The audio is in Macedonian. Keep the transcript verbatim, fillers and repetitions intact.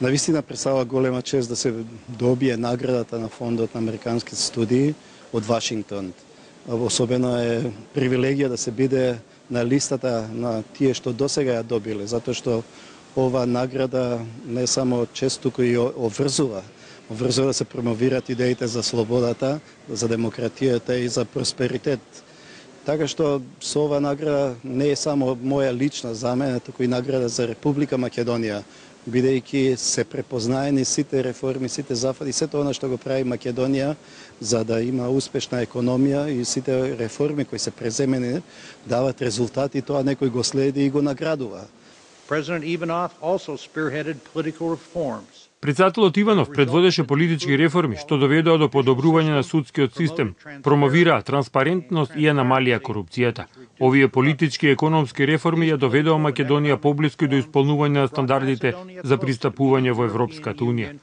Навистина представува голема чест да се добие наградата на Фондот на американски студии од Вашингтон. Особено е привилегија да се биде на листата на тие што досега ја добиле, затоа што ова награда не само чест, туку и обврзува. Обврзува да се промовират идеите за слободата, за демократијата и за просперитет. Така што со ова награда не е само моја лична за мене, туку и награда за Република Македонија, бидејќи се препознаени сите реформи, сите зафати, сето она што го прави Македонија за да има успешна економија и сите реформи кои се преземени дават резултати, тоа некој го следи и го наградува. President Ivanov also spearheaded political reforms. Председателот Иванов предводеше политички реформи што доведоа до подобрување на судскиот систем, промовираа транспарентност и ја намалија корупцијата. Овие политички и економски реформи ја доведоа Македонија поблиску до исполнување на стандардите за пристапување во Европската унија.